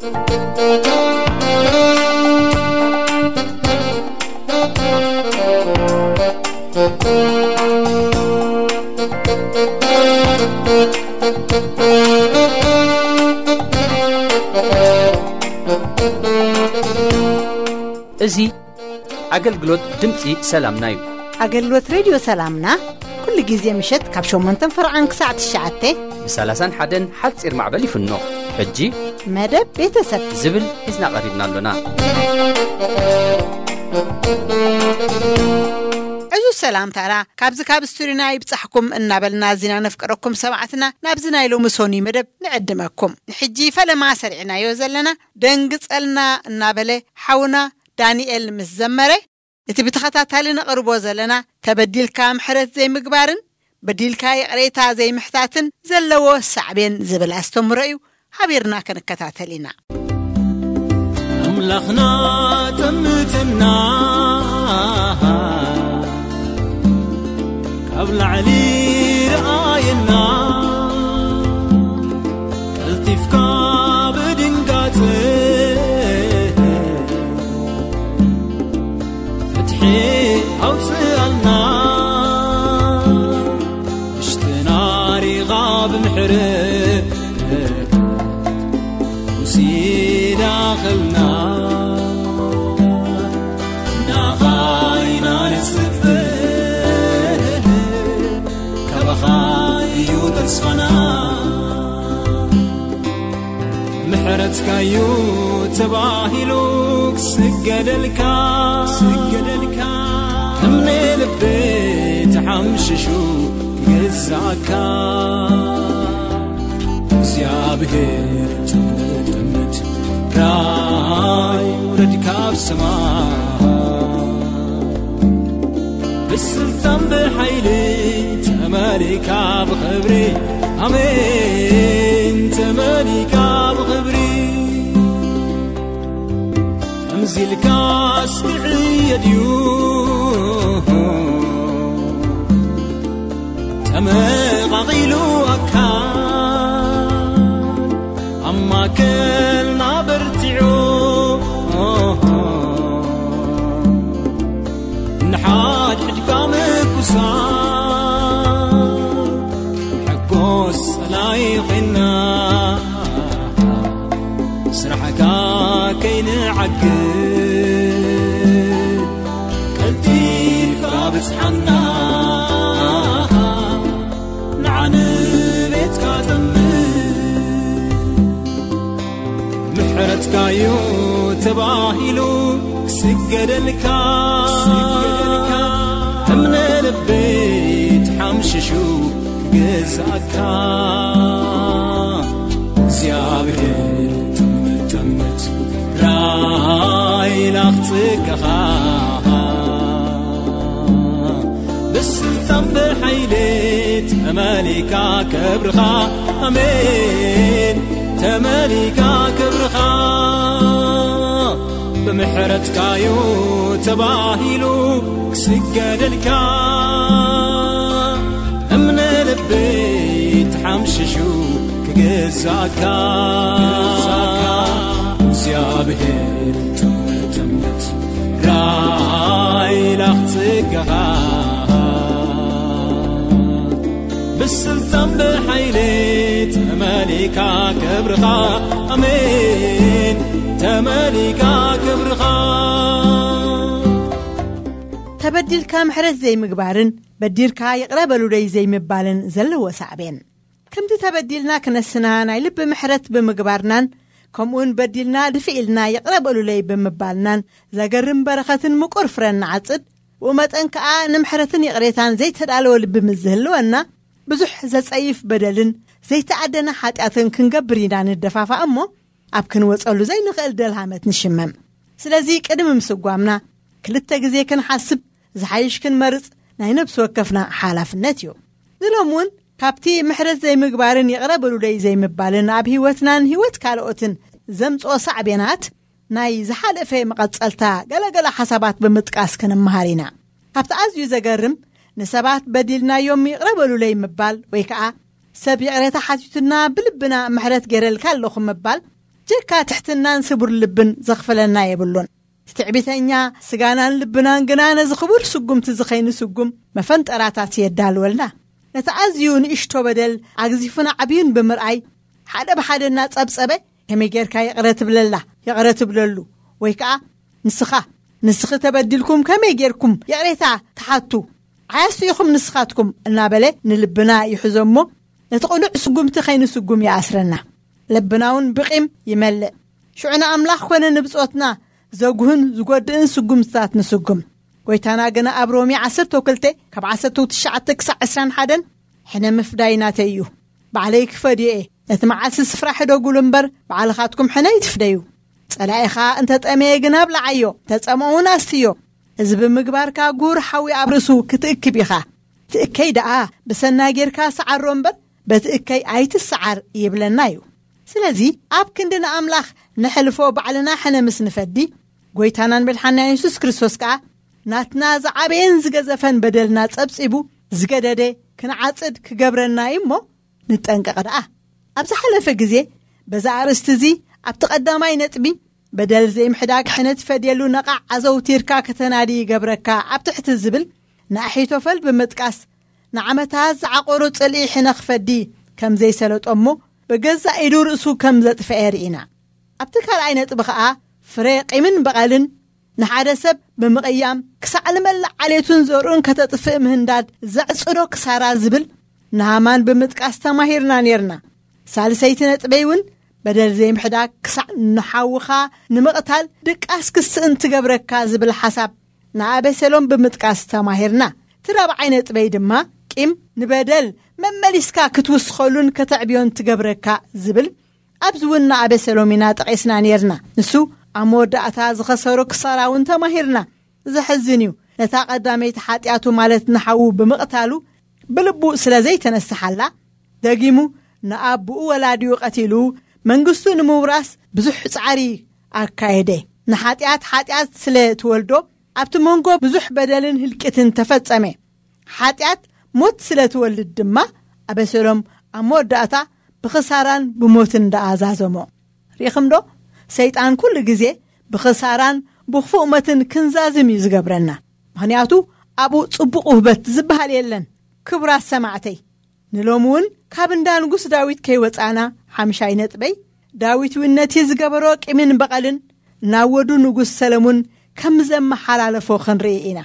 እዚ ኣገልግሎት ድምፂ ሰላምና እዩ። ኣገልግሎት ሬድዮ ሰላምና ኩሉ ግዜ ምሸት ካብ ሸሞንተን ፈርዓን ክሳዕ ትሽዓተ ብ ሰላሳን ሓደን ሓፂር ማዕበል ይፍኖ። ሕጂ መደብ ቤተሰብ ዝብል ሒዝና ቀሪብና ኣሎና። ዕዙዝ ሰላምታና ካብዚ ካብ ስቱዲዮና ይብጻሕኩም እናበልና ኣዚና ነፍቅረኩም ሰማዕትና ናብዚ ናይ ሎሚ ሶኒ መደብ ንዕድመኩም። ንሕጂ ፈለማ ሰሪዕናዮ ዘለና ደንግጸልና እናበለ ሓውና ዳንኤል ምስ ዘመረ፣ እቲ ብተኸታታሊ ነቕርቦ ዘለና ተበዲልካ ምሕረት ዘይምግባርን በዲልካ ይቕሬታ ዘይምሕታትን ዘለዎ ሳዕቤን ዝብል ኣስተምህሮ እዩ። ሓቢርና ክንከታተል ኢና። ኣምላኽና ጠምትና ካብ ላዕሊ ረኣየና፣ ቀልጢፍካ ብድንጋጸ ፍትሒ ኣውፅኣልና። ውሽጥና ሪኻ ብምሕረት ውሲዳኸልና። ናኻ ኢና ንፅበ፣ ካባኻ እዩ ተስፋና። ምሕረትካዩ ተባሂሉ ክስገደልካ፣ ክስገደልካ። እምነ ልበይ ተሓምሽሹ ክግዛእካ። እግዚኣብሔር ጥምጥምት ራይ ውረድ ካብ ሰማይ። ብስልጣን ብሓይሊ ተመሊካ ብኽብሪ፣ ኣሜን፣ ተመሊካ ብኽብሪ። ከምዚ ኢልካ ኣስምዕዮ ድዩ ተመቓቒሉ ኣካል? ኣብ ማእከልና በርቲዑ ንሓድሕድካ ምቁሳል፣ ሕጎስ ጸላኢ ኮይና ስራሕካ ከይንዓግብ ቀልጢፍካ ብጽሓና። ንዓ ንቤትካ ጠምት። ምሕረትካዩ ተባሂሉ ክስገደልካ፣ ክስገደልካ። እምነ ልበይ ተሓምሽሹ ክግዛእካ። እግዚኣብሔር ጥምት ጥምት ራይ ላኽጽገኻ። ብስልጣን ብሓይሊ ተመሊካ ክብርኻ፣ ኣሜን፣ ተመሊካ ክብርኻ። ብምሕረትካዩ ተባሂሉ ክስገደልካ፣ እምነ ልበይ ተሓምሽሹ ክግዛእካ። እግዚኣብሔር ጥምት ጥምት ራይ ላኽጽገኻ። ብስልጣን ብሓይሊ ተመሊካ ክብርኻ፣ ኣሜን፣ ተመሊካ ክብርኻ። ተበዲልካ ምሕረት ዘይምግባርን በዲርካ ይቕረ በሉለይ ዘይምባልን ዘለዎ ሳዕቤን። ከምቲ ተበዲልና ክነስና ናይ ልቢ ምሕረት ብምግባርናን ከምኡውን በዲልና ድፍእ ኢልና ይቕረ በሉለይ ብምባልናን ዘገርም በረኸትን ምቁር ፍረን ንዓጽድ። ብኡ መጠን ከኣ ንምሕረትን ይቕሬታን ዘይተዳለወ ልቢ ምስ ዝህልወና ብዙሕ ዘጸይፍ በደልን ዘይተኣደነ ሓጢኣትን ክንገብር ኢና ንደፋፋእ እሞ ኣብ ክንወጸሉ ዘይንኽእል ደልሃመት ንሽመም። ስለዚ ቅድሚ ምስጓምና ክልተ ግዜ ክንሓስብ ዝሓይሽ ክንመርጽ ናይ ነብሲ ወከፍና ሓላፍነት እዩ። ንሎም እውን ካብቲ ምሕረት ዘይምግባርን ይቕረ በሉለይ ዘይምባልን ኣብ ህይወትናን ህይወት ካልኦትን ዘምጽኦ ሳዕቤናት ናይ ዝሓለፈ መቐጸልታ ገለገለ ሓሳባት ብምጥቃስ ክንመሃር ኢና። ካብቲ ኣዝዩ ዘገርም ንሰባት በዲልናዮም ይቕረ በሉለይ ምባል ወይ ከኣ ሰብ ይቕሬታ ሓቲቱና ብልብና ምሕረት ገይረልካ ኣለኹ ምባል ብጀካ ትሕትናን ስቡር ልብን ዘኽፍለና የብሉን። ትዕቢተኛ ስጋናን ልብናን ግና ነዚ ክቡር ስጉምቲ ዝኸይኑ ስጉም መፈንጠራታት የዳልወልና። ነቲ ኣዝዩ ንእሽቶ በደል ኣግዚፉን ዓብዩን ብምርኣይ፣ ሓደ ብሓደ እናጸብጸበ፣ ከመይ ጌርካ ይቕረ ትብለላ፣ ይቕረ ትብለሉ? ወይ ከኣ ንስኻ፣ ንስኺ ተበዲልኩም ከመይ ጌርኩም ይቕሬታ ትሓቱ? ዓያሱ ኢኹም ንስኻትኩም እናበለ ንልብና ይሕዞ እሞ፣ ነቲ ቅኑዕ ስጉምቲ ከይንስጉም ይኣስረና። ልብና እውን ብቂም ይመልእ። ሽዑ ንኣምላኽ ኮነ ንብጾትና ዘጉህን ዝጎድእን ስጉምትታት ንስጉም። ጎይታና ግና ኣብ ሮሜ ዓሰርተ ክልተ ካብ ዓሰርተ ትሽዓተ ክሳዕ ዕስራን ሓደን፣ ሕነ ምፍዳይ ናተይ እዩ። ባዕለይ ክፈድዮ እየ። ነቲ መዓልቲ ስፍራ ሕደጉሉ እምበር፣ ባዕልኻትኩም ሕነ ይትፍደዩ። ጸላኢኻ እንተ ጠመየ ግና ኣብልዓዮ፣ እንተ ጸምኡ እውን ኣስትዮ። እዚ ብምግባርካ ጉር ሓዊ ኣብ ርእሱ ክትእክብ ኢኻ። ትእከይ ደኣ ብሰናይ ጌርካ ሰዓሮ እምበር፣ በቲ እከይ ኣይትሰዓር ይብለና እዩ። ስለዚ ኣብ ክንዲ ንኣምላኽ ነሕልፎ ባዕልና ሕነ ምስ ንፈዲ፣ ጎይታናን መድሓንና የሱስ ክርስቶስ ከኣ ናትና ዝዓበየን ዝገዘፈን በደልና ጸብጺቡ ዝገደደ ክንዓጽድ ክገብረና እዩ እሞ ንጠንቀቕ ደኣ። ኣብ ዝሓለፈ ግዜ በዛ ኣርእስቲ እዚ ኣብቲ ቀዳማይ ነጥቢ በደል ዘይምሕዳግ ሕነ ትፈድየሉ ነቓዕ ኣዘውቲርካ ከተናዲ ይገብረካ ኣብ ትሕቲ ዝብል ንኣሒቶፈል ብምጥቃስ ንዓመታት ዝዓቆሩ ጽልኢ ሕነ ክፈዲ ከም ዘይሰለጦ እሞ ብገዛእ ኢዱ ርእሱ ከም ዘጥፈኤ ርኢና። ኣብቲ ካልኣይ ነጥቢ ኸኣ ፍረ ቂምን በቐልን ንሓደ ሰብ ብምቕያም ክሳዕ ንመላእ ዓሌቱን ዘርኡን ከተጥፍእ ምህንዳድ ዘዕጽዶ ክሳራ ዝብል ንሃማን ብምጥቃስ ተማሂርና ኔርና። ሳልሰይቲ ነጥበይ እውን በደል ዘይምሕዳግ ክሳዕ ንሓውኻ ንምቕታል ድቃስ ክስእን ትገብረካ ዝብል ሓሳብ ንኣቤሴሎም ብምጥቃስ ተማሂርና። እቲ ራብዓይ ነጥበይ ድማ ቂም ንበደል መመሊስካ ክትውስኸሉን ከተዕብዮን ትገብረካ ዝብል ኣብዚ እውን ንኣቤሴሎም ኢና ጠቒስና ኔርና። ንሱ ኣብ መወዳእታ ዝኸሰሮ ክሳራ እውን ተማሂርና። ዘሕዝን እዩ። ነታ ቀዳመይቲ ሓጢኣቱ ማለት ንሓዉ ብምቕታሉ ብልቡ ስለ ዘይተነስሓላ፣ ደጊሙ ንኣቦኡ ወላዲኡ ቀቲሉ መንግስቱ ንምውራስ ብዙሕ ጻዕሪ ኣካየደ። ንሓጢኣት ሓጢኣት ስለ ትወልዶ ኣብቲ መንጎ ብዙሕ በደልን ህልቂትን ተፈጸመ። ሓጢኣት ሞት ስለ ትወልድ ድማ ኣበሰሎም ኣብ መወዳእታ ብኽሳራን ብሞትን ደኣ ዛዘሞ። ርኢኹም ዶ? ሰይጣን ኩሉ ግዜ ብኽሳራን ብኽፉእ ሞትን ክንዛዝም እዩ ዝገብረና። ምኽንያቱ ኣብኡ ጽቡቕ ውህበት ዝበሃል የለን። ክቡራት ሰማዕተይ፣ ንሎሚ እውን ካብ እንዳ ንጉስ ዳዊት ከይወጻና፣ ሓምሻይ ነጥበይ፣ ዳዊት እውን ነቲ ዝገበሮ ቂምን በቐልን ናብ ወዱ ንጉስ ሰለሙን ከም ዘመሓላለፎ ክንርኢ ኢና።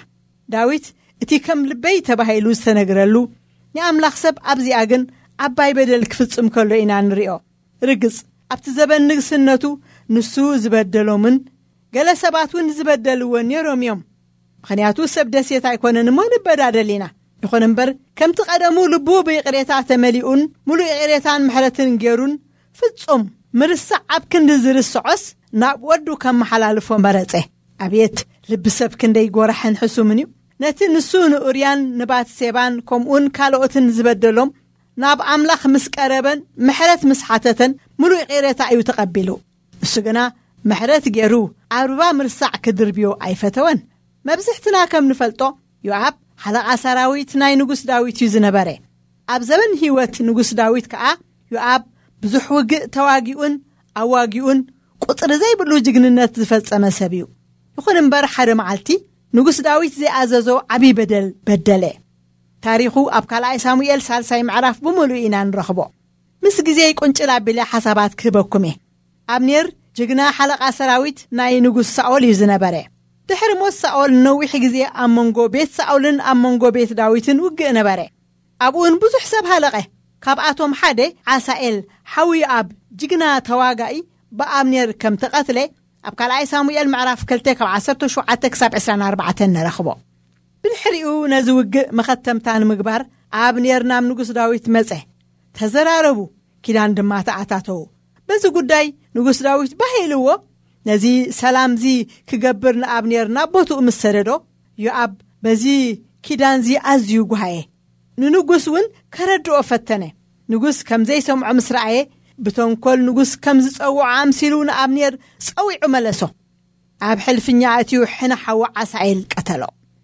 ዳዊት እቲ ከም ልበይ ተባሂሉ ዝተነግረሉ ንኣምላኽ ሰብ ኣብዚኣ ግን ዓባይ በደል ክፍጽም ከሎ ኢና ንሪኦ። ርግጽ ኣብቲ ዘበን ንግስነቱ ንሱ ዝበደሎምን ገለ ሰባት እውን ዝበደልዎ ነይሮም እዮም። ምኽንያቱ ሰብ ደሴት ኣይኮነን እሞ ንበዳደል ኢና። ይኹን እምበር ከምቲ ቀደሙ ልቡ ብይቕሬታ ተመሊኡን ሙሉእ ይቕሬታን ምሕረትን ገይሩን ፍጹም ምርሳዕ ኣብ ክንዲ ዝርስዖስ ናብ ወዱ ከመሓላልፎ መረጸ። ኣብየት ልቢ ሰብ ክንደይ ጎራሕን ሕሱምን እዩ! ነቲ ንሱ ንኡርያን ንባትሴባን ከምኡውን ካልኦትን ዝበደሎም ናብ ኣምላኽ ምስ ቀረበን ምሕረት ምስ ሓተተን ሙሉእ ይቕሬታ እዩ ተቐቢሉ። ንሱ ግና ምሕረት ገይሩ ኣብ ርባ ምርሳዕ ክድርብዮ ኣይፈተወን። መብዝሕትና ከም ንፈልጦ ዮኣብ ሓለቓ ሰራዊት ናይ ንጉስ ዳዊት እዩ ዝነበረ። ኣብ ዘበን ህይወት ንጉስ ዳዊት ከኣ ዮኣብ ብዙሕ ውግእ ተዋጊኡን ኣዋጊኡን ቁጽሪ ዘይብሉ ጅግንነት ዝፈጸመ ሰብ እዩ። ይኹን እምበር ሓደ መዓልቲ ንጉስ ዳዊት ዘይኣዘዞ ዓብዪ በደል በደለ። ታሪኹ ኣብ ካልኣይ ሳሙኤል ሳልሳይ ምዕራፍ ብምሉእ ኢና ንረኽቦ። ምስ ግዜይ ቁንጭል ኣቢለ ሓሳባት ክህበኩም እየ። ኣብኔር ጅግና ሓለቓ ሰራዊት ናይ ንጉስ ሳኦል እዩ ዝነበረ። ድሕሪ ሞት ሳኦል ንነዊሕ ግዜ ኣብ መንጎ ቤት ሳኦልን ኣብ መንጎ ቤት ዳዊትን ውግእ ነበረ። ኣብኡን ብዙሕ ሰብ ሃለቐ። ካብኣቶም ሓደ ዓሳኤል ሓዊ ዮኣብ ጅግና ተዋጋኢ ብኣብኔር ከም ተቐትለ ኣብ ካልኣይ ሳሙኤል ምዕራፍ ክልተ ካብ ዓሰርተ ሸውዓተ ክሳብ ዕስራን ኣርባዕተን ንረኽቦ። ብድሕሪኡ ነዚ ውግእ መኸተምታ ንምግባር ኣብኔር ናብ ንጉስ ዳዊት መጸ። ተዘራረቡ፣ ኪዳን ድማ ተኣታተዉ። በዚ ጉዳይ ንጉስ ዳዊት ባህ ኢልዎ ነዚ ሰላምዚ ክገብር ንኣብኔር ናብ ቦትኡ ምስ ሰደዶ፣ ዮኣብ በዚ ኪዳንዚ ኣዝዩ ጓሃየ። ንንጉስ እውን ከረድኦ ፈተነ። ንጉስ ከም ዘይሰምዖ ምስ ረኣየ፣ ብተንኮል ንጉስ ከም ዝጸውዖ ኣምሲሉ ንኣብኔር ጸዊዑ መለሶ። ኣብ ሕልፍኛ ኣእትዩ ሕነ ሓዊ ዓሳኤል ቀተሎ።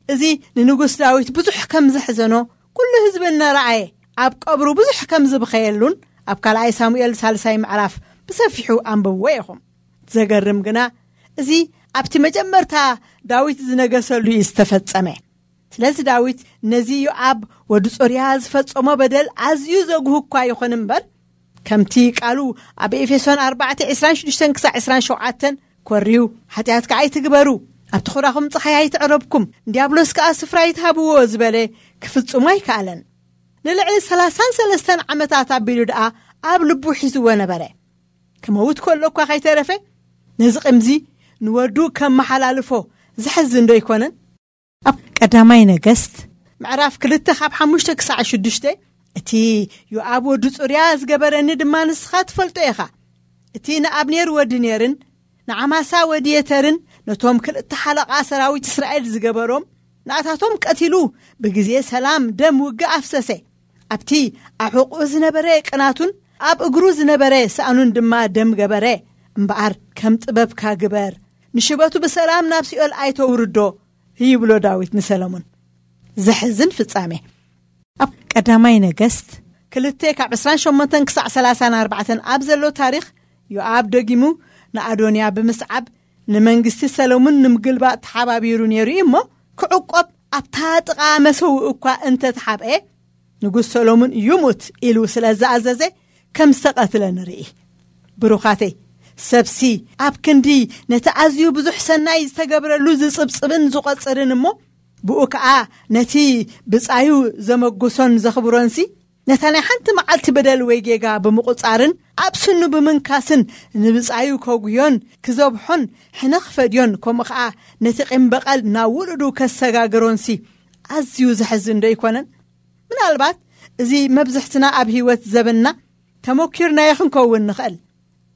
እዚ ንንጉስ ዳዊት ብዙሕ ከም ዘሕዘኖ ኩሉ ህዝቢ እናረኣየ ኣብ ቀብሩ ብዙሕ ከም ዝበኸየሉን ኣብ ካልኣይ ሳሙኤል ሳልሳይ ምዕራፍ ብሰፊሑ ኣንብብዎ ኢኹም። ዘገርም ግና፣ እዚ ኣብቲ መጀመርታ ዳዊት ዝነገሰሉ እዩ ዝተፈጸመ። ስለዚ ዳዊት ነዚ ዮኣብ ወዲ ጾርያ ዝፈጸሞ በደል ኣዝዩ ዘጉህ እኳ ይኹን እምበር፣ ከምቲ ቃሉ ኣብ ኤፌሶን ኣርባዕተ ዕስራን ሽዱሽተን ክሳዕ ዕስራን ሸውዓተን፣ "ኮርዩ ሓጢኣት ከኣ ኣይትግበሩ፣ ኣብቲ ኹራኹም ጸሓይ ኣይትዕረብኩም፣ ንዲያብሎስ ከኣ ስፍራ ኣይትሃብዎ" ዝበለ ክፍጽሞ ኣይከኣለን። ንልዕሊ ሰላሳን ሰለስተን ዓመታት ኣቢሉ ደኣ ኣብ ልቡ ሒዝዎ ነበረ። ክመውት ከሎ እኳ ከይተረፈ፣ ነዚ ቂምዚ ንወዱ ከመሓላልፎ ዘሕዝን ዶ ኣይኮነን? ኣብ ቀዳማይ ነገስት ምዕራፍ ክልተ ካብ ሓሙሽተ ክሳዕ ሽዱሽተ፣ "እቲ ዮኣብ ወዲ ጽሩያ ዝገበረኒ ድማ ንስኻ ትፈልጦ ኢኻ። እቲ ንኣብኔር ወዲ ኔርን ንዓማሳ ወዲ የተርን፣ ነቶም ክልተ ሓለቓ ሰራዊት እስራኤል ዝገበሮም፣ ንኣታቶም ቀቲሉ ብግዜ ሰላም ደም ውግእ ኣፍሰሰ። ኣብቲ ኣሕቑኡ ዝነበረ ቅናቱን ኣብ እግሩ ዝነበረ ሳእኑን ድማ ደም ገበረ። እምበኣር ከም ጥበብካ ግበር፣ ንሽበቱ ብሰላም ናብ ሲኦል ኣይተውርዶ" ይብሎ ዳዊት ንሰለሙን። ዘሕዝን ፍጻሜ። ኣብ ቀዳማይ ነገስት ክልተ ካብ ዕስራን ሸሞንተን ክሳዕ ሰላሳን ኣርባዕተን ኣብ ዘሎ ታሪኽ፣ ዮኣብ ደጊሙ ንኣዶንያ ብምስዓብ ንመንግስቲ ሰለሙን ንምግልባጥ ተሓባቢሩ ነይሩ እዩ እሞ፣ ክዕቆብ ኣብታ ጥቓ መሰውእ እኳ እንተተሓብአ፣ ንጉስ ሰሎሙን ይሙት ኢሉ ስለ ዝኣዘዘ ከም ዝተቐትለ ንርኢ። ብሩኻተይ፣ ሰብሲ ኣብ ክንዲ ነቲ ኣዝዩ ብዙሕ ሰናይ ዝተገብረሉ ዝጽብጽብን ዝቖጽርን እሞ፣ ብኡ ከኣ ነቲ ብጻዩ ዘመጉሶን ዘኽብሮንሲ፣ ነታ ናይ ሓንቲ መዓልቲ በደል ወይ ጌጋ ብምቑጻርን ኣብ ስኑ ብምንካስን ንብጻዩ ከጉዮን ክዘብሖን ሕነ ክፈድዮን፣ ከምኡ ከኣ ነቲ ቂም በቐል ናብ ውሉዱ ከሰጋግሮንሲ ኣዝዩ ዘሕዝን ዶ ኣይኮነን? ምናልባት እዚ መብዝሕትና ኣብ ህይወት ዘበንና ተመኪርናዮ ክንከውን ንኽእል።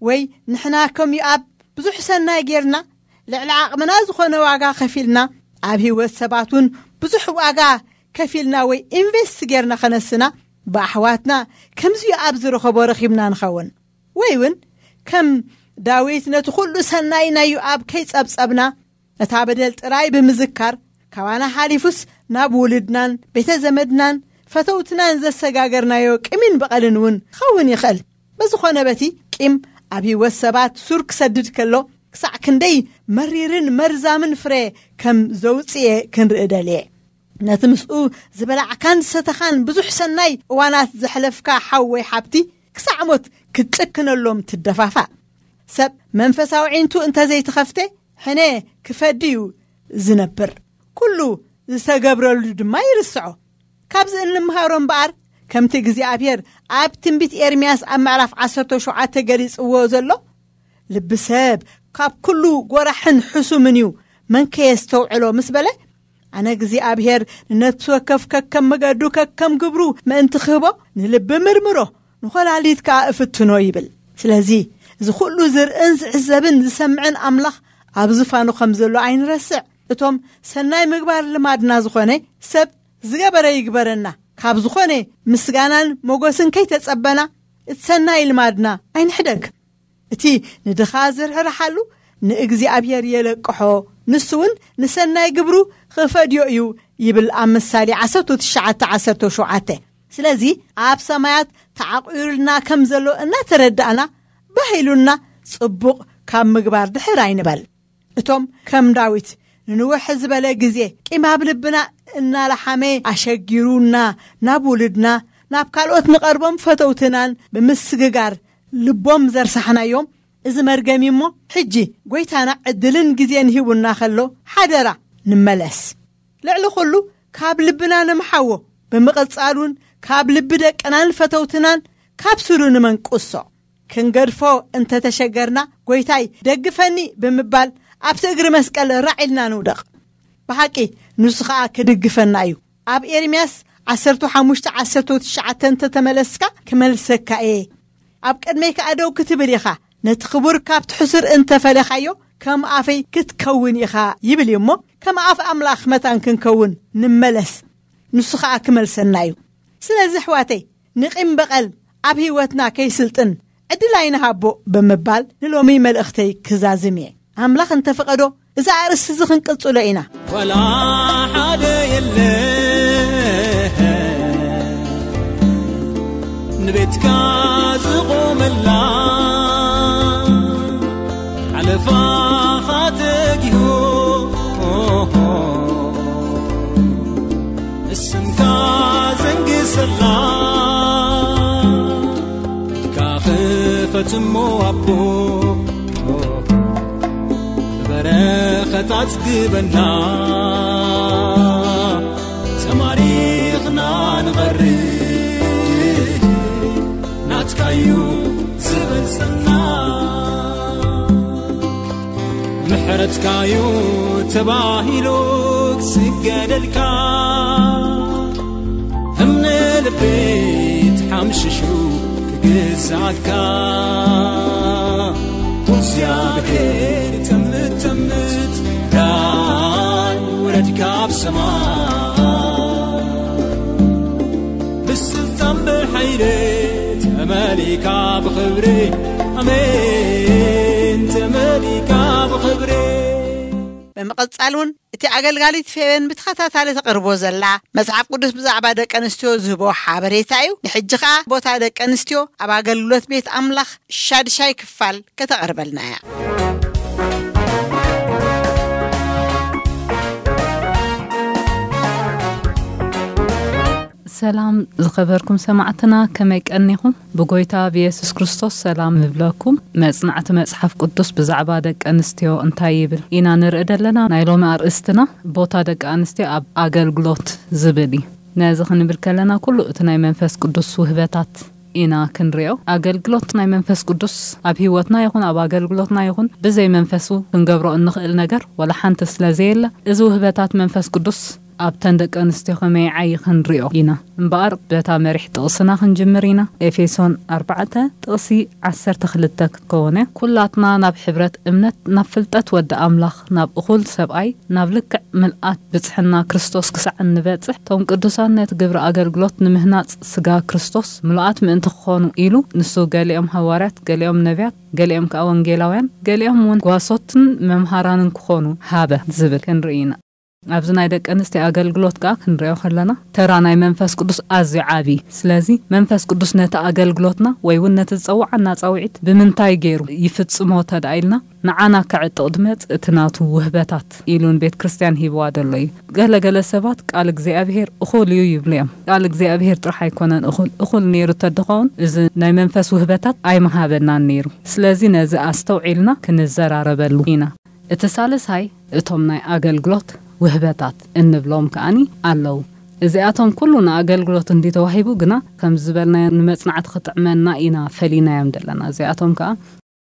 ወይ ንሕና ከም ዮኣብ ብዙሕ ሰናይ ጌርና፣ ልዕሊ ዓቕምና ዝኾነ ዋጋ ከፊልና፣ ኣብ ህይወት ሰባት እውን ብዙሕ ዋጋ ከፊልና ወይ ኢንቨስት ጌርና ከነስና፣ ብኣሕዋትና ከምዚ ዮኣብ ዝረኸቦ ረኺብና ንኸውን። ወይ እውን ከም ዳዊት ነቲ ኩሉ ሰናይ ናይ ዮኣብ ከይጸብጸብና፣ ነታ በደል ጥራይ ብምዝካር፣ ካባና ሓሊፉስ ናብ ውሉድናን ቤተ ዘመድናን ፈተውትናን ዘሰጋገርናዮ ቂምን በቐልን እውን ክኸውን ይኽእል። በዝኾነ በቲ ቂም ኣብ ህይወት ሰባት ሱር ክሰድድ ከሎ፣ ክሳዕ ክንደይ መሪርን መርዛምን ፍረ ከም ዘውጽኤ ክንርኢ ደልየ። ነቲ ምስኡ ዝበላዕካን ዝሰተኻን ብዙሕ ሰናይ እዋናት ዘሕለፍካ ሓው ወይ ሓብቲ፣ ክሳዕ ሞት ክትጭክነሎም ትደፋፋእ። ሰብ መንፈሳዊ ዒንቱ እንተዘይተኸፍተ፣ ሕነ ክፈዲ እዩ ዝነብር። ኩሉ ዝተገብረሉ ድማ ይርስዖ። ካብዚ እንምሃሮ እምበኣር፣ ከምቲ እግዚኣብሔር ኣብ ትንቢት ኤርምያስ ኣብ ምዕራፍ ዓሰርተ ሸውዓተ ገሊጽዎ ዘሎ፣ "ልቢ ሰብ ካብ ኩሉ ጎራሕን ሕሱምን እዩ፣ መን ከየስተውዕሎ?" ምስ በለ፣ ኣነ እግዚኣብሔር ንነፍሲ ወከፍ ከከም መገዱ ከከም ግብሩ ምእንቲ ክህቦ፣ ንልቢ ምርምሮ፣ ንኾላሊት ከኣ እፍትኖ ይብል። ስለዚ፣ እዚ ኩሉ ዝርእን ዝዕዘብን ዝሰምዕን ኣምላኽ ኣብ ዝፋኑ ከም ዘሎ ኣይንረስዕ። እቶም ሰናይ ምግባር ልማድና ዝኾነ ሰብ ዝገበረ ይግበረና፣ ካብ ዝኾነ ምስጋናን ሞገስን ከይተጸበና፣ እቲ ሰናይ ልማድና ኣይንሕደግ። እቲ ንድኻ ዝርሕርሓሉ ንእግዚኣብሔር የለቅሖ፣ ንሱ እውን ንሰናይ ግብሩ ክፈድዮ እዩ ይብል ኣብ ምሳሌ ዓሰርተ ትሽዓተ ዓሰርተ ሸውዓተ። ስለዚ ኣብ ሰማያት ተዓቑሩልና ከም ዘሎ እናተረዳእና፣ ባህ ኢሉና ጽቡቕ ካብ ምግባር ድሕር ኣይንበል። እቶም ከም ዳዊት ንንውሕ ዝበለ ግዜ ቂም ኣብ ልብና እናለሓመ ኣሸጊሩና፣ ናብ ውሉድና፣ ናብ ካልኦት ንቐርቦም ፈተውትናን ብምስግጋር ልቦም ዘርሳሕናዮም፣ እዚ መርገም እዩ እሞ፣ ሕጂ ጎይታና ዕድልን ግዜን ሂቡና ከሎ፣ ሓደራ ንመለስ። ልዕሊ ኩሉ ካብ ልብና ንምሓዎ፣ ብምቕጻል እውን ካብ ልቢ ደቅናን ፈተውትናን ካብ ስሩ ንመንቁሶ። ክንገድፎ እንተተሸገርና፣ "ጎይታይ፣ ደግፈኒ" ብምባል ኣብቲ እግሪ መስቀል ራዕ ኢልና ንውደቕ። ብሓቂ ንሱ ኸኣ ክድግፈና እዩ። ኣብ ኤርምያስ ዓሰርተ ሓሙሽተ ዓሰርተ ትሽዓተ እንተተመለስካ፣ ክመልሰካ እየ። ኣብ ቅድመይ ከኣ ደው ክትብል ኢኻ። ነቲ ክቡር ካብቲ ሕሱር እንተፈለኻዮ፣ ከም ኣፈይ ክትከውን ኢኻ ይብል እዩ እሞ፣ ከም ኣፍ ኣምላኽ መታን ክንከውን ንመለስ። ንሱ ኸኣ ክመልሰና እዩ። ስለዚ ኣሕዋተይ፣ ንቂም በቐል ኣብ ህይወትና ከይስልጥን ዕድል ኣይንሃቦ ብምባል ንሎሚ መልእኽተይ ክዛዝም እየ። ኣምላኽ እንተፈቐዶ፣ እዚ ኣርእስቲ እዚ ክንቅጽሎ ኢና። ወላ ሓደ የለ ንቤትካ ዝቆመላ። ልፋኻ ተጊሁ ንስምካ ዘንግሰላ ኢድካ ክፈጽሞ ኣቦ ብበረኸት ኣጽግበና ተማሪኽና ንቐርብ ናትካዩ ዝበልጸና ምሕረትካዩ ተባሂሉ ክስገደልካ እምነ ልበይ ተሓምሽሹ ክግዛካ እግዚኣብሔር ተምተምት ዳይ ውረድ ካብ ሰማይ ብስልጣን ብሓይሊ ተመሊካ ብኽብሪ ኣሜን ተመሊካ ብኽብሪ ብምቕጻል እውን እቲ ኣገልጋሊት ፌበን ብተኸታታሊ ተቕርቦ ዘላ መጽሓፍ ቅዱስ ብዛዕባ ደቂ ኣንስትዮ ዝህቦ ሓበሬታ እዩ። ንሕጂ ኸኣ ቦታ ደቂ ኣንስትዮ ኣብ ኣገልግሎት ቤት ኣምላኽ ሻድሻይ ክፋል ከተቕርበልና እያ። ሰላም ዝኸበርኩም ሰማዕትና፣ ከመይ ቀኒኹም? ብጎይታ ብየሱስ ክርስቶስ ሰላም ንብለኩም። መጽናዕቲ መጽሓፍ ቅዱስ ብዛዕባ ደቂ ኣንስትዮ እንታይ ይብል ኢና ንርኢ ዘለና። ናይ ሎሚ ኣርእስትና ቦታ ደቂ ኣንስትዮ ኣብ ኣገልግሎት ዝብል እዩ። ነዚ ክንብል ከለና ኩሉ እቲ ናይ መንፈስ ቅዱስ ውህበታት ኢና ክንሪኦ። ኣገልግሎት ናይ መንፈስ ቅዱስ ኣብ ህይወትና ይኹን ኣብ ኣገልግሎትና ይኹን ብዘይ መንፈሱ ክንገብሮ እንኽእል ነገር ወላ ሓንቲ ስለ ዘየለ፣ እዚ ውህበታት መንፈስ ቅዱስ ኣብተን ደቂ ኣንስትዮ ከመይ ይዓዪ ክንሪኦ ኢና። እምበኣር በታ መሪሕ ጥቕስና ክንጅምር ኢና። ኤፌሶን ኣርባዕተ ጥቕሲ ዓሰርተ ክልተ ክትከውን እያ። ኩላትና ናብ ሕብረት እምነት፣ ናብ ፍልጠት ወዲ ኣምላኽ፣ ናብ እኹል ሰብኣይ፣ ናብ ልክዕ ምልኣት ብጽሕና ክርስቶስ ክሳዕ እንበጽሕ፣ እቶም ቅዱሳን ነቲ ግብሪ ኣገልግሎት ንምህናጽ ስጋ ክርስቶስ ምሉኣት ምእንቲ ክኾኑ ኢሉ፣ ንሱ ገሊኦም ሃዋርያት፣ ገሊኦም ነቢያት፣ ገሊኦም ከኣ ወንጌላውያን፣ ገሊኦም እውን ጓሶትን መምሃራንን ክኾኑ ሃበ ዝብል ክንርኢ ኢና። ኣብዚ ናይ ደቂ ኣንስትዮ ኣገልግሎት ከኣ ክንሪኦ ከለና፣ ተራ ናይ መንፈስ ቅዱስ ኣዝዩ ዓቢ። ስለዚ መንፈስ ቅዱስ ነቲ ኣገልግሎትና ወይ እውን ነቲ ዝጸውዓና ጻውዒት ብምንታይ ገይሩ ይፍጽሞ ተደኣ ኢልና፣ ንዓና ከዕጥቕ ድመጽእ እቲ ናቱ ውህበታት ኢሉ ንቤት ክርስትያን ሂብዋ ዘሎ እዩ። ገለ ገለ ሰባት ቃል እግዚኣብሔር እኹል እዩ ይብሉ እዮም። ቃል እግዚኣብሔር ጥራሕ ኣይኮነን እኹል፣ እኹል ነይሩ ተድኸውን እዚ ናይ መንፈስ ውህበታት ኣይምሃበናን ነይሩ። ስለዚ ነዚ ኣስተውዒልና ክንዘራረበሉ ኢና። እቲ ሳልሳይ እቶም ናይ ኣገልግሎት ውህበታት እንብሎም ከኣኒ ኣለዉ። እዚኣቶም ኩሉ ንኣገልግሎት እንዲ ተዋሂቡ ግና ከም ዝበልናዮ ንመጽናዕቲ ክጥዕመና ኢና ፈሊናዮም ዘለና። እዚኣቶም ከኣ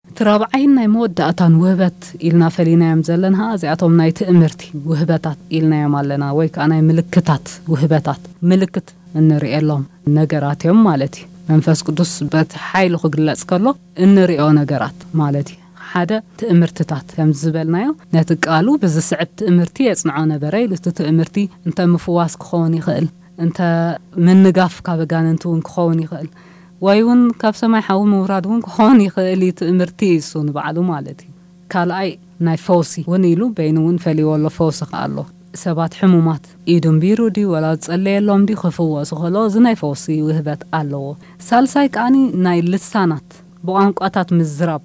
እቲ ራብዓይን ናይ መወዳእታን ውህበት ኢልና ፈሊናዮም ዘለና እዚኣቶም ናይ ትእምርቲ ውህበታት ኢልናዮም ኣለና፣ ወይ ከዓ ናይ ምልክታት ውህበታት፣ ምልክት እንርእየሎም ነገራት እዮም ማለት እዩ። መንፈስ ቅዱስ በቲ ሓይሉ ክግለጽ ከሎ እንርእዮ ነገራት ማለት እዩ። ሓደ ትእምርትታት ከም ዝበልናዮ ነቲ ቃሉ ብዝስዕብ ትእምርቲ የጽንዖ ነበረ ኢሉ፣ እቲ ትእምርቲ እንተ ምፍዋስ ክኸውን ይኽእል፣ እንተ ምንጋፍ ካብ ኣጋንንቲ እውን ክኸውን ይኽእል፣ ወይ እውን ካብ ሰማይ ሓዊ ምውራድ እውን ክኾን ይኽእል እዩ። ትእምርቲ እዩ እሱ ንባዕሉ ማለት እዩ። ካልኣይ ናይ ፈውሲ እውን ኢሉ በይኑ እውን ፈልይዎ ኣሎ። ፈውሲ ከኣ ኣሎ። ሰባት ሕሙማት ኢዱ እምቢሩ ድዩ ወላ ዝጸለየሎም ድዩ ክፍወሱ ከሎ እዚ ናይ ፈውሲ ውህበት ኣለዎ። ሳልሳይ ከኣኒ ናይ ልሳናት ብቋንቋታት ምዝራብ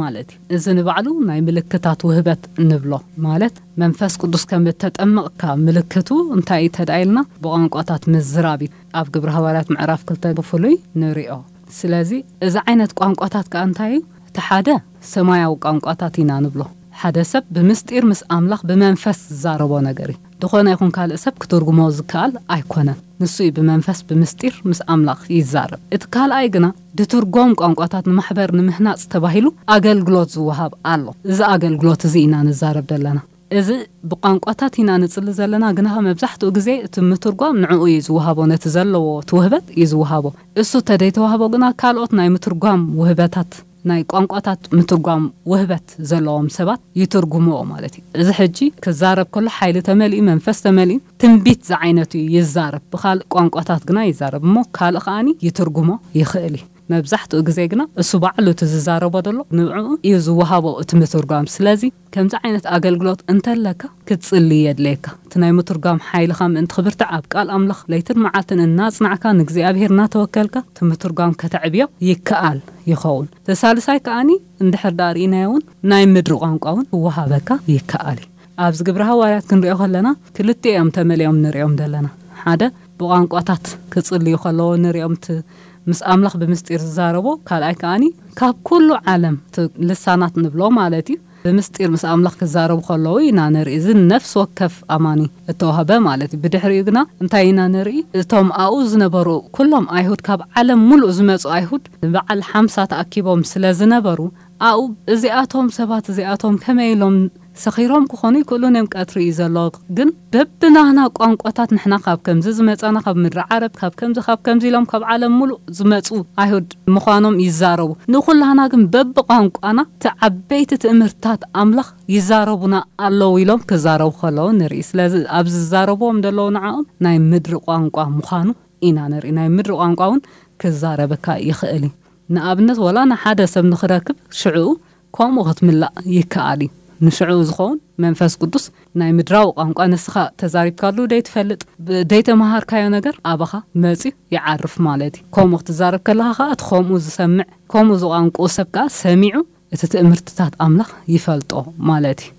ማለት እዩ። እዚ ንባዕሉ ናይ ምልክታት ውህበት ንብሎ ማለት መንፈስ ቅዱስ ከም እተጠመቕካ ምልክቱ እንታይ እዩ ተዳኢልና ብቋንቋታት ምዝራብ እዩ። ኣብ ግብረ ሃዋርያት ምዕራፍ ክልተ ብፍሉይ ንሪኦ። ስለዚ እዚ ዓይነት ቋንቋታት ከኣ እንታይ እዩ? እቲ ሓደ ሰማያዊ ቋንቋታት ኢና ንብሎ። ሓደ ሰብ ብምስጢር ምስ ኣምላኽ ብመንፈስ ዝዛረቦ ነገር እዩ። ዝኾነ ይኹን ካልእ ሰብ ክትርጉሞ ዝከኣል ኣይኮነን። ንሱ እዩ ብመንፈስ ብምስጢር ምስ ኣምላኽ ይዛረብ። እቲ ካልኣይ ግና ድትርጎም ቋንቋታት ንማሕበር ንምህናጽ ተባሂሉ ኣገልግሎት ዝወሃብ ኣሎ። እዚ ኣገልግሎት እዚ ኢና ንዛረብ ዘለና። እዚ ብቋንቋታት ኢና ንጽሊ ዘለና፣ ግና መብዛሕትኡ ግዜ እቲ ምትርጓም ንዕኡ እዩ ዝወሃቦ፣ ነቲ ዘለዎ እቲ ውህበት እዩ ዝወሃቦ። እሱ ተደይተዋህቦ ግና ካልኦት ናይ ምትርጓም ውህበታት፣ ናይ ቋንቋታት ምትርጓም ውህበት ዘለዎም ሰባት ይትርጉምዎ ማለት እዩ። እዚ ሕጂ ክዛረብ ከሎ ሓይሊ ተመሊኡ፣ መንፈስ ተመሊኡ፣ ትንቢት ዝዓይነቱ እዩ ይዛረብ። ብኻልእ ቋንቋታት ግና ይዛረብ እሞ ካልእ ከኣኒ ይትርጉሞ ይኽእል እዩ። መብዛሕትኡ ግዜ ግና እሱ ባዕሉ እቲ ዝዛረቦ ዘሎ ንብዕኡ እዩ ዝወሃቦ እቲ ምትርጓም። ስለዚ ከምዚ ዓይነት ኣገልግሎት እንተለካ ክትጽሊ የድልየካ። እቲ ናይ ምትርጓም ሓይልኻ ምእንቲ ክብርትዕ ኣብ ቃል ኣምላኽ ለይትን መዓልትን እናጽናዕካ ንእግዚኣብሔር እናተወከልካ እቲ ምትርጓም ከተዕብዮ ይከኣል ይኸውን። እቲ ሳልሳይ ከኣኒ እንድሕር ደኣ ርኢናዮ እውን ናይ ምድሪ ቋንቋ እውን ክወሃበካ ይከኣል እዩ። ኣብዚ ግብረ ሃዋርያት ክንሪኦ ከለና ክልቲኦም ተመሊኦም ንሪኦም ዘለና። ሓደ ብቋንቋታት ክጽልዩ ከለዎ ንሪኦም እቲ ምስ ኣምላኽ ብምስጢር ዝዛረቦ፣ ካልኣይ ከኣኒ ካብ ኩሉ ዓለም እቲ ልሳናት ንብሎ ማለት እዩ። ብምስጢር ምስ ኣምላኽ ክዛረቡ ከለዉ ኢና ንርኢ። እዚ ነፍሲ ወከፍ ኣማኒ እተዋህበ ማለት እዩ። ብድሕሪኡ ግና እንታይ ኢና ንርኢ? እቶም ኣብኡ ዝነበሩ ኩሎም ኣይሁድ፣ ካብ ዓለም ሙሉእ ዝመጹ ኣይሁድ ንበዓል ሓምሳ ተኣኪቦም ስለ ዝነበሩ፣ ኣብኡ እዚኣቶም ሰባት እዚኣቶም ከመይ ኢሎም ሰኺሮም ክኾኑ ይክእሉ እዮም። ቀትሪ እዩ ዘሎ። ግን በብናህና ቋንቋታት ንሕና ካብ ከምዚ ዝመጻና፣ ካብ ምድሪ ዓረብ፣ ካብ ከምዚ፣ ካብ ከምዚ ኢሎም ካብ ዓለም ሙሉእ ዝመጹ ኣይሁድ ምዃኖም ይዛረቡ። ንኹላህና ግን በብቋንቋና እቲ ዓበይቲ ትእምርታት ኣምላኽ ይዛረቡና ኣለዉ ኢሎም ክዛረቡ ከለዉ ንርኢ። ስለዚ ኣብ ዝዛረብዎም ዘለዉ ንዕኦም ናይ ምድሪ ቋንቋ ምዃኑ ኢና ንርኢ። ናይ ምድሪ ቋንቋ እውን ክዛረበካ ይኽእል እዩ። ንኣብነት፣ ወላ ንሓደ ሰብ ንኽረክብ ሽዕኡ ከምኡ ክትምላእ ይከኣል እዩ። ንሽዕኡ ዝኸውን መንፈስ ቅዱስ ናይ ምድራዊ ቋንቋ ንስኻ ተዛሪብካሉ ደይትፈልጥ፣ ብ-፣ ደይተመሃርካዮ ነገር ኣባኻ መጺኡ ይዓርፍ ማለት እዩ። ከምኡ ክትዛረብ ከለኻ ኸኣ እቲ ከምኡ ዝሰምዕ፣ ከምኡ ዝቋንቁኡ ሰብ ከኣ ሰሚዑ እቲ ትእምርትታት ኣምላኽ ይፈልጦ ማለት እዩ።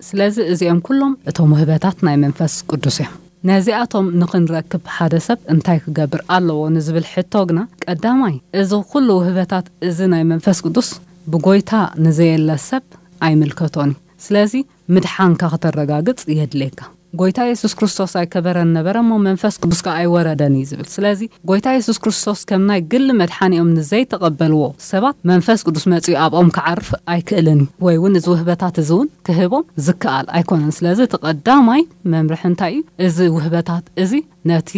ስለዚ እዚኦም ኩሎም እቶም ውህበታት ናይ መንፈስ ቅዱስ እዮም። ነዚኣቶም ንኽንረክብ ሓደ ሰብ እንታይ ክገብር ኣለዎ ንዝብል ሕቶ ግና፣ ቀዳማይ፣ እዚ ኩሉ ውህበታት እዚ ናይ መንፈስ ቅዱስ ብጎይታ ንዘየለ ሰብ ኣይምልከቶን እዩ። ስለዚ ምድሓንካ ከተረጋግጽ የድልየካ። ጎይታ የሱስ ክርስቶስ ኣይከበረን ነበረ፣ እሞ መንፈስ ቅዱስ ከኣ ኣይወረደን እዩ ዝብል። ስለዚ ጎይታ የሱስ ክርስቶስ ከም ናይ ግሊ መድሓኒኦም ንዘይተቐበልዎ ሰባት መንፈስ ቅዱስ መጺኡ ኣብኦም ክዓርፍ ኣይክእልን እዩ። ወይ እውን እዚ ውህበታት እዚ እውን ክህቦም ዝከኣል ኣይኮነን። ስለዚ እቲ ቀዳማይ መምርሒ እንታይ እዩ? እዚ ውህበታት እዚ ነቲ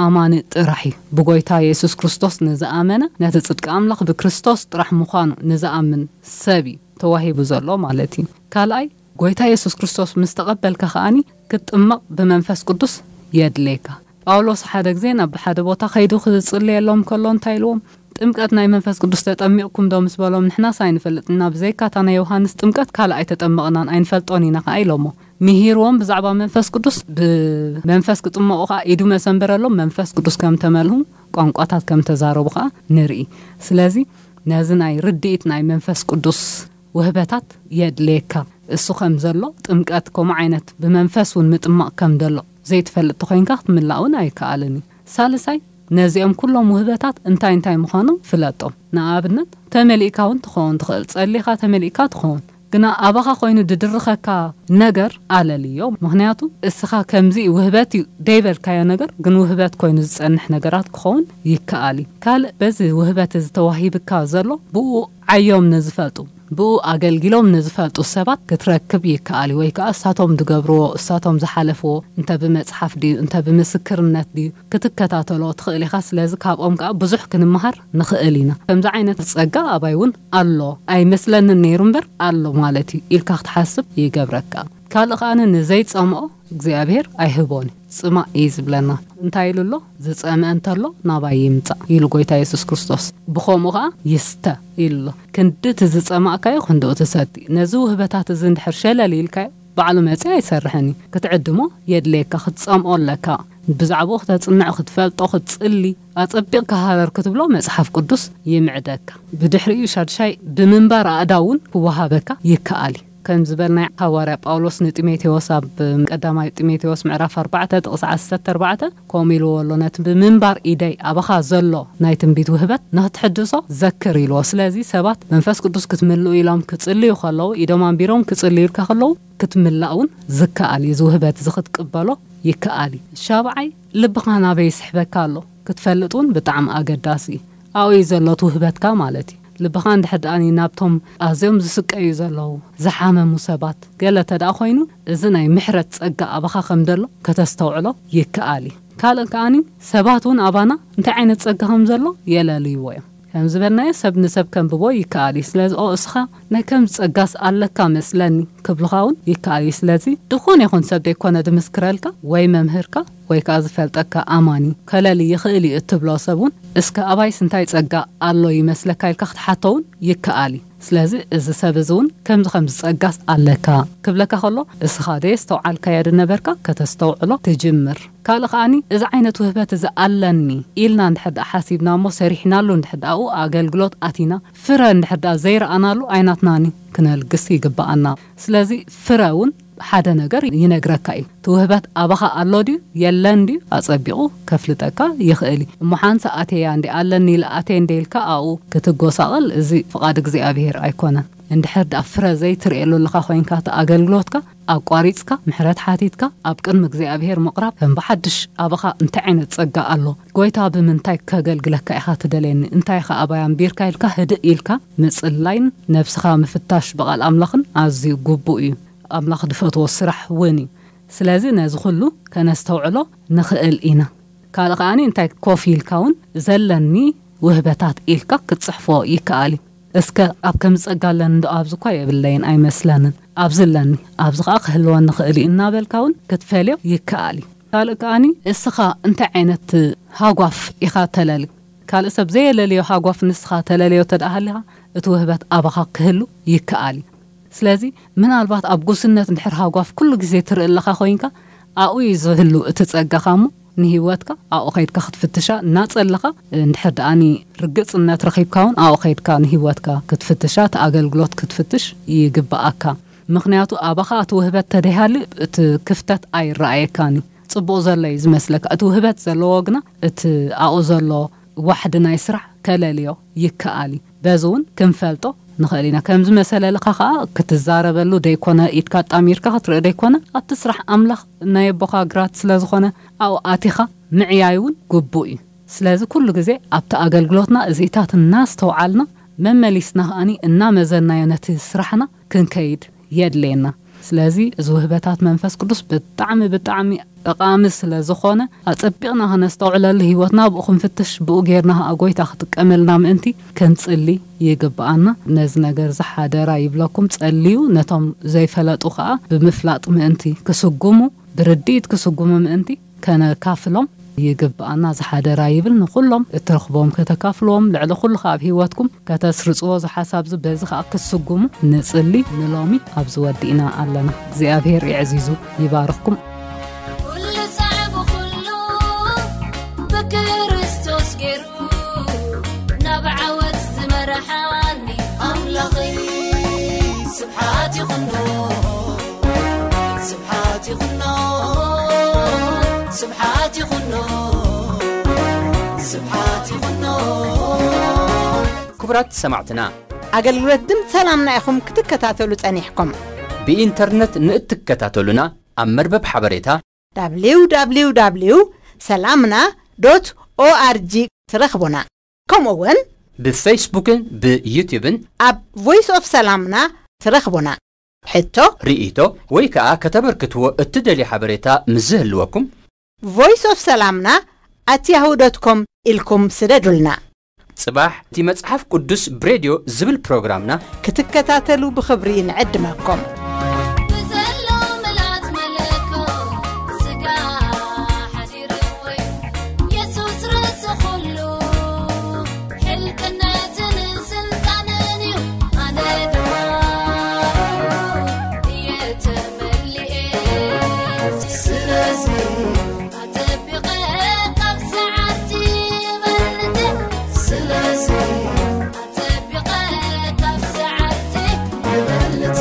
ኣማኒ ጥራሕ እዩ። ብጎይታ የሱስ ክርስቶስ ንዝኣመነ፣ ነቲ ጽድቂ ኣምላኽ ብክርስቶስ ጥራሕ ምዃኑ ንዝኣምን ሰብ እዩ ተዋሂቡ ዘሎ ማለት እዩ። ካልኣይ፣ ጎይታ የሱስ ክርስቶስ ምስ ተቐበልካ ከኣኒ ክትጥመቕ ብመንፈስ ቅዱስ የድልየካ። ጳውሎስ ሓደ ግዜ ናብ ሓደ ቦታ ከይዱ ክጽልየሎም ከሎ እንታይ ኢልዎም? ጥምቀት ናይ መንፈስ ቅዱስ ተጠሚቕኩም ዶ ምስ በሎም፣ ንሕናስ ኣይንፈልጥና፣ ብዘይካ እታ ናይ ዮሃንስ ጥምቀት ካልእ ኣይተጠመቕናን ኣይንፈልጦን ኢና ከኣ ኢሎሞ። ምሂርዎም ብዛዕባ መንፈስ ቅዱስ፣ ብመንፈስ ክጥመቑ ከኣ ኢዱ መሰንበረሎም፣ መንፈስ ቅዱስ ከም ተመልሁ፣ ቋንቋታት ከም ተዛረቡ ከኣ ንርኢ። ስለዚ ነዚ ናይ ርድኢት ናይ መንፈስ ቅዱስ ውህበታት የድልየካ። እሱ ከም ዘሎ ጥምቀት ከምኡ ዓይነት ብመንፈስ እውን ምጥማቕ ከም ዘሎ ዘይትፈልጥ ተኾይንካ ክትምላእ እውን ኣይከኣልን እዩ። ሳልሳይ፣ ነዚኦም ኩሎም ውህበታት እንታይ እንታይ ምዃኖም ፍለጦም። ንኣብነት፣ ተመሊእካ እውን ትኸውን ትኽእል፣ ጸሊኻ ተመሊእካ ትኸውን። ግና ኣባኻ ኮይኑ ድድርኸካ ነገር ኣለልዮ። ምኽንያቱ እስኻ ከምዚ ውህበት እዩ ደይበልካዮ ነገር ግን ውህበት ኮይኑ ዝጸንሕ ነገራት ክኸውን ይከኣል እዩ። ካልእ፣ በዚ ውህበት እዚ ተዋሂብካ ዘሎ ብኡ ዓዮም ንዝፈልጡ፣ ብኡ ኣገልጊሎም ንዝፈልጡ ሰባት ክትረክብ ይከኣል እዩ። ወይ ከኣ እሳቶም ዝገብርዎ፣ እሳቶም ዝሓለፍዎ፣ እንተ ብመጽሓፍ ድዩ፣ እንተ ብምስክርነት ድዩ፣ ክትከታተሎ ትኽእል ኢኻ። ስለዚ ካብኦም ከኣ ብዙሕ ክንመሃር ንኽእል ኢና። ከምዚ ዓይነት ጸጋ ኣባይ እውን ኣሎ፣ ኣይመስለንን ነይሩ እምበር ኣሎ ማለት እዩ ኢልካ ክትሓስብ ይገብረካ። ካልእ ከኣ ንዘይጸምኦ እግዚኣብሔር ኣይህቦን እዩ፣ ጽማእ እዩ ዝብለና። እንታይ ኢሉ ኣሎ? "ዝጸምአ እንተሎ ናባይ ይምጻእ" ኢሉ ጎይታ የሱስ ክርስቶስ። ብኸምኡ ከኣ "ይስተ" ኢሉ ኣሎ። ክንዲ እቲ ዝጸማእካዮ ክንድኡ ትሰቲ። ነዚ ውህበታት እዚ እንድሕር ሸለል ኢልካዮ፣ ባዕሉ መጺኡ ኣይሰርሕን እዩ። ክትዕድሞ የድልየካ፣ ክትጸምኦ ኣለካ። ብዛዕባኡ ክተጽንዕ፣ ክትፈልጦ፣ ክትጽሊ፣ ኣጸቢቕካ ሃረር ክትብሎ መጽሓፍ ቅዱስ ይምዕደካ። ብድሕሪኡ ሻድሻይ ብምንባር ኣእዳው እውን ክወሃበካ ይከኣል እዩ። ከም ዝበልናዮ፣ ሃዋርያ ጳውሎስ ንጢሞቴዎስ ኣብ ቀዳማይ ጢሞቴዎስ ምዕራፍ ኣርባዕተ ጥቕሲ ዓሰርተ ኣርባዕተ ከምኡ ኢልዎ ኣሎ፣ "ነቲ ብምንባር ኢደይ ኣባኻ ዘሎ ናይ ትንቢት ውህበት ንኽትሕድሶ ዘክር" ኢልዎ። ስለዚ ሰባት መንፈስ ቅዱስ ክትምልኡ ኢሎም ክጽልዩ ከለዉ፣ ኢዶም ኣንቢሮም ክጽልዩልካ ከለዉ፣ ክትምላእ እውን ዝከኣል እዩ። እዚ ውህበት እዚ ክትቅበሎ ይከኣል እዩ። ሻብዓይ፣ ልብኻ ናበይ ይስሕበካ ኣሎ ክትፈልጥ እውን ብጣዕሚ ኣገዳሲ እዩ። ኣብኡ እዩ ዘሎ እቲ ውህበትካ ማለት እዩ። ልብኻ እንድሕር ደኣ ናብቶም ኣዝዮም ዝስቀዩ ዘለዉ፣ ዝሓመሙ ሰባት ገለ እንተ ደኣ ኮይኑ፣ እዚ ናይ ምሕረት ጸጋ ኣባኻ ከም ዘሎ ከተስተውዕሎ ይከኣል እዩ። ካልእ ከኣኒ ሰባት እውን ኣባና እንታይ ዓይነት ጸጋ ከም ዘሎ የለልይዎ እዮም። ከም ዝበልናዮ ሰብ ንሰብ ከንብቦ ይከኣል እዩ። ስለዚ "ኦ፣ እስኻ ናይ ከምዚ ጸጋስ ኣለካ መስለኒ" ክብሉኻ እውን ይከኣል እዩ። ስለዚ ድኹን ይኹን ሰብ ዘይኮነ ድምስክረልካ ወይ መምህርካ ወይ ከዓ ዝፈልጠካ ኣማኒ ከለሊ ይኽእል እዩ እትብሎ ሰብ እውን፣ እስከ ኣባይስ እንታይ ጸጋ ኣሎ ይመስለካ ኢልካ ክትሓቶ እውን ይከኣል እዩ። ስለዚ እዚ ሰብ እዚ እውን ከምዚ ከምዚ ጸጋስ ኣለካ ክብለካ ከሎ፣ እስኻ ደየስተውዓልካዮ ድነበርካ ከተስተውዕሎ ትጅምር። ካልእ ከኣኒ፣ እዚ ዓይነት ውህበት እዚ ኣለኒ ኢልና እንድሕር ደኣ ሓሲብና እሞ ሰሪሕናሉ እንድሕር ደኣኡ ኣገልግሎት ኣቲና ፍረ እንድሕር ደኣ ዘይረኣናሉ ኣይናትናኒ ክነልግስ ይግብኣና። ስለዚ ፍረ እውን ሓደ ነገር ይነግረካ እዩ። እቲ ውህበት ኣባኻ ኣሎ ድዩ የለን ድዩ ኣጸቢቑ ከፍልጠካ ይኽእል እዩ። እሞ ሓንሳ ኣቴያ እንዲ ኣለኒ ኢለ ኣቴ እንደ ኢልካ ኣብኡ ክትጎሳቐል፣ እዚ ፍቓድ እግዚኣብሔር ኣይኮነን። እንድሕር ደኣ ፍረ ዘይትርእየሉ ኣለኻ ኮይንካ፣ እቲ ኣገልግሎትካ ኣቋሪጽካ ምሕረት ሓቲትካ ኣብ ቅድሚ እግዚኣብሔር ምቕራብ ከም ብሓድሽ ኣባኻ እንታይ ዓይነት ጸጋ ኣሎ? ጎይታ ብምንታይ ከገልግለካ ኢኻ ትደልየኒ? እንታይ ኢኻ ኣባይ ኣንቢርካ ኢልካ ህድእ ኢልካ ምጽላይን ነብስኻ ምፍታሽ ብቓል ኣምላኽን ኣዝዩ ግቡእ እዩ። ኣምላኽ ዝፈትዎ ስራሕ እውን እዩ። ስለዚ ነዚ ኩሉ ከነስተውዕሎ ንኽእል ኢና። ካልእ ከኣኒ እንታይ ኮፍ ኢልካ እውን ዘለኒ ውህበታት ኢልካ ክትጽሕፎ ይከኣል እዩ። እስከ ኣብ ከም ጸጋ ኣለኒ እንዶ ኣብዚ እኳ የብለይን ኣይመስለንን፣ ኣብዚ ኣለኒ፣ ኣብዚ ኸኣ ክህልወኒ ይኽእል እዩ እናበልካ እውን ክትፈልዮ ይከኣል እዩ። ካልእ ከኣኒ እስኻ እንታይ ዓይነት ሃጓፍ ኢኻ ተለሊ? ካልእ ሰብ ዘየለልዮ ሃጓፍ ንስኻ ተለልዮ ተደኣ ሃሊኻ እቲ ውህበት ኣባኻ ክህሉ ይከኣል እዩ። ስለዚ ምናልባት ኣብ ጉስነት እንድሕር ሃጓፍ ኩሉ ግዜ ትርኢ ኣለኻ ኮይንካ ኣብኡ እዩ ዝህሉ እቲ ጸጋኻ እሞ ንህይወትካ ኣብኡ ከይድካ ክትፍትሻ እናጸለኻ እንድሕር ደኣኒ ርግጽነት ረኺብካ እውን ኣብኡ ከይድካ ንህይወትካ ክትፍትሻ እቲ ኣገልግሎት ክትፍትሽ ይግብኣካ። ምኽንያቱ ኣባኻ እቲ ውህበት ተደይሃሉ እቲ ክፍተት ኣይረኣየካን እዩ። ጽቡቕ ዘሎ እዩ ዝመስለካ። እቲ ውህበት ዘለዎ ግና እቲ ኣብኡ ዘሎ ዋሕዲ ናይ ስራሕ ከለልዮ ይከኣል እዩ። በዚ እውን ክንፈልጦ ንኽእል ኢና። ከምዚ መሰለልኻ ኸኣ ክትዛረበሉ ደይኮነ፣ ኢድካ ኣጣሚርካ ክትርኢ ደይኮነ፣ ኣብቲ ስራሕ ኣምላኽ ናይ ኣቦኻ ግራት ስለ ዝኾነ ኣብኡ ኣቲኻ ምዕያይ እውን ግቡእ እዩ። ስለዚ ኩሉ ግዜ ኣብቲ ኣገልግሎትና እዚኢታት እናስተውዓልና መመሊስና ከኣኒ እናመዘናዮ ነቲ ስራሕና ክንከይድ የድልየና። ስለዚ እዚ ውህበታት መንፈስ ቅዱስ ብጣዕሚ ብጣዕሚ ጠቓሚ ስለ ዝኾነ ኣጸቢቕና ከነስተውዕለሉ ህይወትና ብኡ ክንፍትሽ ብኡ ጌርና ከኣ ጎይታ ክጥቀመልና ምእንቲ ክንጽሊ ይግብኣና። ነዚ ነገር እዚ ሓደራ ይብለኩም። ጸልዩ ነቶም ዘይፈለጡ ከኣ ብምፍላጥ ምእንቲ ክስጉሙ ብርድኢት ክስጉሙ ምእንቲ ከነካፍሎም ይግብኣና። ዝሓደራ ይብል ንኹሎም እትረኽቦም ከተካፍልዎም፣ ልዕሊ ኩሉ ከኣ ኣብ ህይወትኩም ከተስርጽዎ ዝሓሳብ ዝ-፣ በዚ ከኣ ክትስጉሙ ንጽሊ። ንሎሚ ኣብዚ ወዲእና ኣለና። እግዚኣብሔር የዕዚዙ ይባርኽኩም። ኩሉ ጻዕቡ ኩሉ ብክርስቶስ ገይሩ ናብ ዓወት ዝመርሓኒ ኣምላኸይ ስብሓት ይኹኖ። ስብሓት ይኹኖ፣ ስብሓት ይኹኖ፣ ስብሓት ይኹኖ። ክቡራት ሰማዕትና፣ ኣገልግሎት ድምፂ ሰላምና ኢኹም ክትከታተሉ ጸኒሕኩም። ብኢንተርነት ንእትከታተሉና ኣብ መርበብ ሓበሬታ www ሰላምና ዶት ኦኣርጂ ትረኽቡና። ከምኡ እውን ብፌስቡክን ብዩቲዩብን ኣብ ቮይስ ኦፍ ሰላምና ትረኽቡና። ሕቶ፣ ርእይቶ ወይ ከኣ ከተበርክትዎ እትደልዩ ሓበሬታ ምስ ዝህልወኩም ቮይስ ኦፍ ሰላምና ኣት ያሁ ዶት ኮም ኢልኩም ስደዱልና። ጽባሕ እቲ መጽሓፍ ቅዱስ ብሬድዮ ዝብል ፕሮግራምና ክትከታተሉ ብኽብሪ ንዕድመኩም። ብዘሎ ምልኣት መለኮት ስጋ ሓዲሩ ወይ የሱስ ርእሲ ኩሉ ሕልቅነትን ስልጣንን እዩ። ኣነ ድማ እየ ተመሊኤ። ስለዚ ኣጸቢቐ ካብ ሰዓርቲ ይበልጽ። ስለዚ ኣጸቢቐ ካብ ሰዓርቲ ይበልጽ።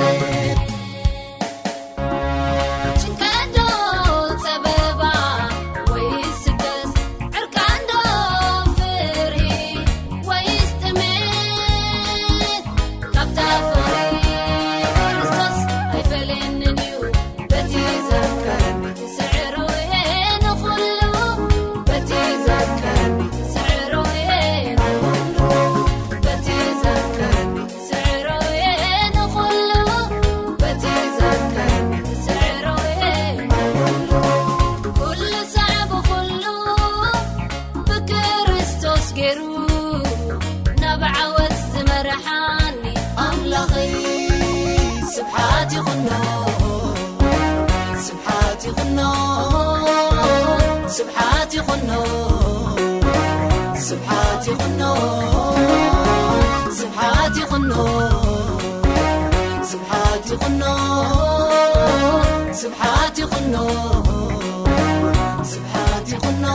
ስብሓት ይኹኖ፣ ስብሓት ይኹኖ፣ ስብሓት ይኹኖ፣ ስብሓት ይኹኖ፣ ስብሓት ይኹኖ።